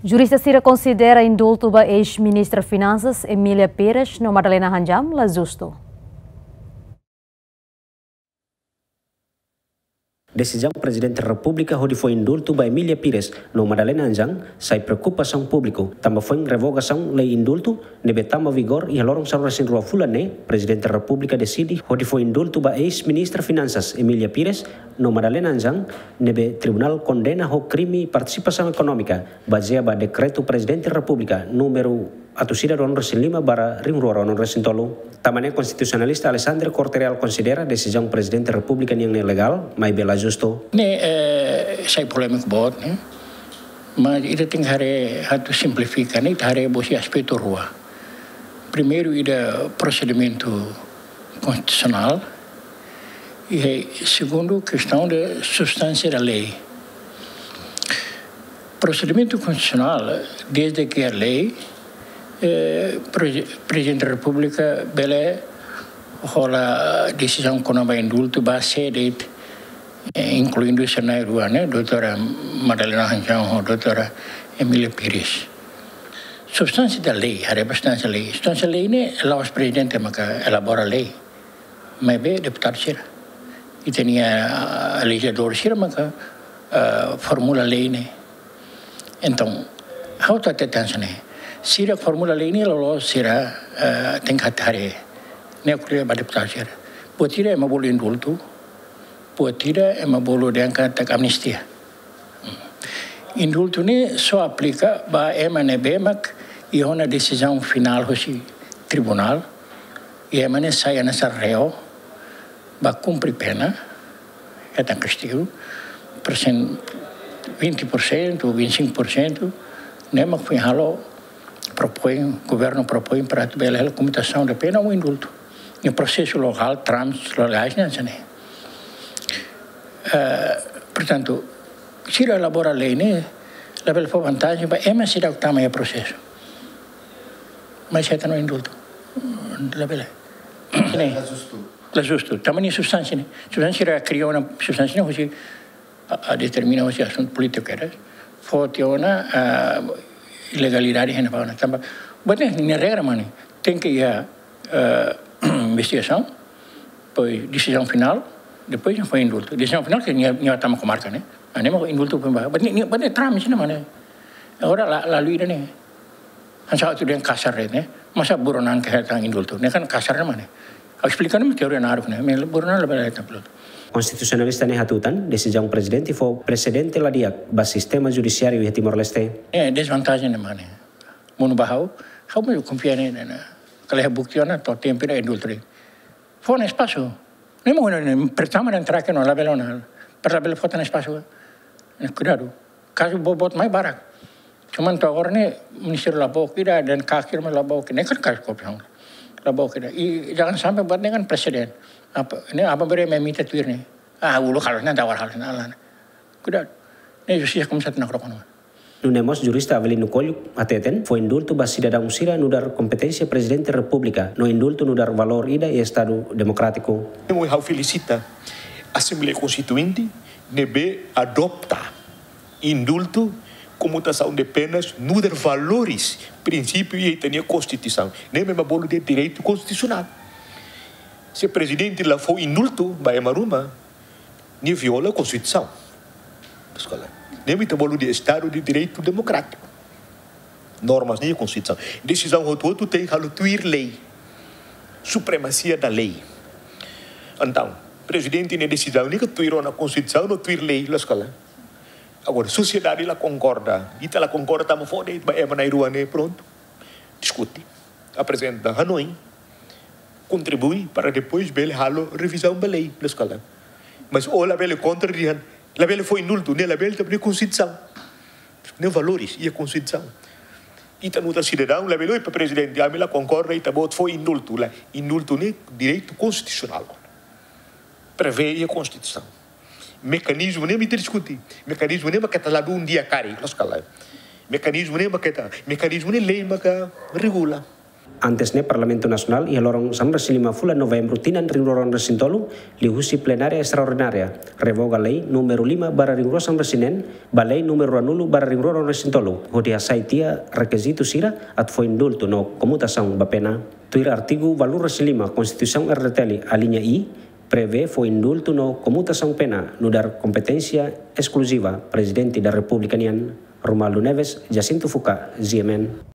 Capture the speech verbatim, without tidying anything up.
Jurista sira konsidera indultu ba eis-ministra Finansas Emília Pires no Madalena Hanjam la justu. Desizaun Prezidente Repúblika hodi fó indultu ba Emília Pires no Madalena Hanjam sai preokupasaun públiku, tanba foin revogasaun lei indultu ne'ebé tama vigór iha loron sanulu resin rua fulan ne'e, Prezidente Repúblika deside hodi fó indultu ba eis-ministra Finansas Emília Pires no Madalena Hanjam ne'ebé tribunál kondena ho krime partisipasaun ekonómika bazeia ba Dekretu Prezidente Repúblika númeru atus ida ruanulu resin lima barra rihun rua ruanulu resin tolu. Tanba ne'e konstitusionalista Alexandre Corte Real konsidera desizaun Prezidente Repúblika nian ne'e legál, maibé la justu. Ne'e, eh, sai polémiku boot, ne'e. Mas ita tenke haree atu simplifika, ne'e, ita haree husi aspetu rua. Primeiru, ida prosedimentu konstitusionál, i segundu, kestaun de substánsia da lei. Prosedimentu konstitusionál, dezde ke iha lei, eh, Pre-, Prezidente Repúblika bele hola desizaun kona-ba indultu ba sé de'it, eh, inkluindu sira na'in-rua ne'e, doutora Madalena Hanjam ho doutora Emília Pires. Substánsia da lei, haree ba substánsia lei. Substánsia lei ne'e la'ós Prezidente maka elabora lei, maibé deputadu sira. Ita-nia, ah, lejizladór sira maka, ah, formula lei ne'e. Entaun, ha'u atu hatete hanesan ne'e. Sira formula lei ne'e loloos sira, ah, tenke haree. Ne'e ko'alia ba deputadu sira. Buat ida ema bolu indultu, buat ida ema bolu dehan katak amnistia. Indultu ne'e só aplika ba ema ne'ebé mak iha ona desizaun finál husi tribunál, i ema ne'e sai hanesan reu ba kumpre pena, hetan kastigu, persen-, vinte por cento ou vinte e cinco por cento, ne'e mak foin halo, propoin, governu propoin para atu bele halo komutasaun de pena ou indultu. Iha prosesu legál, trámites legais, ne'e hanesan ne'e. Eh, portantu, sira elabora lei ne'e, labele fó vantajen ba ema sira tama iha prosesu. Mas hetan indultu. Labele. Ne'e. La justu. La justu. Tanba nia substánsia ne'e. Substánsia sira kria ona substánsia ne'e husi, ah, ah, determina husi asuntu polítiku kedas. Foti ona, ah, ilegalidade hena pa ona. Tanba, buat ne'e, nia regra mak ne'e. Tenke iha, ah, investigasaun, depois desizaun finál, depois fó indultu. Desizaun finál ke nia, nia tama komarka ne'e. Ne'e mak indultu foin ba. Buat ne'e, ne'e, buat ne'e trámite ne'e mak ne'e. Agora la, la luida ne'e. Hanesan atu dehan kasar de'it ne'e. Masa buronan ke hetan indultu. Ne'e kan kasar ne'e mak ne'e. Ha'u esplika ne'e teoria naruk ne'e. Maibé buronan labele hetan indultu. Konstitusionalista ne'e hatutan, desizaun Prezidente fó presede la di'ak ba sistema judisiáriu iha Timor-Leste. Eh, dezvantajen ne'e mak ne'e. Monu ba ha'u, ha'u mós konfia ne'e, ne'e, ne'e. Kala iha bukti ona, to'o tempu ida indultu. Fó ona espasu. Ne'e mak ne'e, ne'e, pertama dan terakhir no labele ona. Para labele fó tan espasu. Ne'e, kuidadu. Kazu boboot mai barak. Cuman to'o agora ne'e Ministériu Labour ida dan kaker mai Labour ida. Ne'e kan kazu korrupsaun. Labour ida. I jangan sampai buat ne'e kan presiden. Apa, ne'e apa bere mai mita tuir ne'e. Ah, uluk halo ne'e, tawar halo ne'e, ala ne'e. Kuidadu. Ne'e justisa komesa nakrokono. Nune'e mós jurista Avelino Coelho hateten, fó indultu ba sidadaun sira nu'udar kompeténsia Prezidente Repúblika, no indultu nu'udar valór ida iha Estadu demokrátiku. Emo ha'u felisita Asembleia Konstituinte ne'ebé adota indultu, komutasaun de penas, nu'udar valores, prinsípiu iha ita-nia Konstituisaun. Ne'e ema bolu dehan direitu konstitusionál. Se Prezidente la fó indultu ba ema ruma, nia viola Konstituisaun. Ne'e mak ita bolu dehan Estadu de Direitu Demokrátiku. Normas ne'e Konstituisaun. Desizaun hotu-hotu tenke halo tuir lei. Supremasia da lei. Entaun, Prezidente nia desizaun ne'e ke tuir ona Konstituisaun no tuir lei, loos ka lae. Agora, sosiedade la konkorda, ita la konkorda, tama fó de'it ba ema na'in-rua ne'e, prontu. Diskute, aprezenta hanoin, kontribui para depois bele halo revizaun ba lei, loos ka lae. Mas ó labele kontra dehan, labele fó indultu, ne'e labele, tanba ne'e Konstituisaun. Ne'e valores, iha Konstituisaun. Ita nu'udar sidadaun, labele oi ba Prezidente, ami la konkorda, ita-boot fó indultu, lae. Indultu ne'e direitu konstitusionál. Prevee iha Konstituisaun. Mekanizmu ne'e mak ita diskute. Mekanizmu ne'e mak keta la dún di'ak karik, loos ka lae. Mekanizmu ne'e mak keta, mekanizmu ne'e lei maka regula. Antes ne'e, Parlamentu Nasionál iha loron sanulu-resin-lima fulan Novembru tinan rihun rua ruanulu-resin-tolu, liuhusi plenária estraordinária, revoga lei númeru lima barra rihun rua sanulu-resin-neen, ba lei númeru ruanulu barra rihun rua ruanulu-resin-tolu, hodi hasai tiha rekizitu sira atu fó indultu no komutasaun ba pena. Tuir artigu ualunulu-resin-lima Konstituisaun R D T L, alínea I, prevee fó indultu no komutasaun pena nu'udar kompeténsia eskluziva Prezidente da Repúblika nian. Romualdo Neves, Jacinto Fuca, G M N.